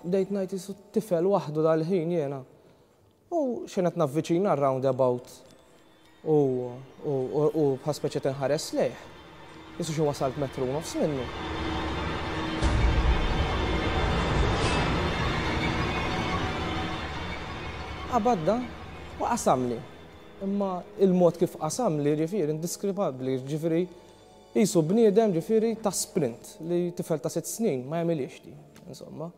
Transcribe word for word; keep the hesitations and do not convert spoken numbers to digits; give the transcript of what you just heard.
Bdejt ngħid, "Qisu tifel waħdu dal-ħin jiena." U x'ħin qed navviċina r-roundabout u u bħal speċi tinħares lejh. Qisu xi wasalt metru u nofs minnu. Qabadda u qasamli. Imma il-mod kif qasamli, ġifieri, indiskripabbli, ġifieri qisu bniedem, ġifieri, ta' sprint li tifel ta' sitt snin ma jagħmilix di, insomma.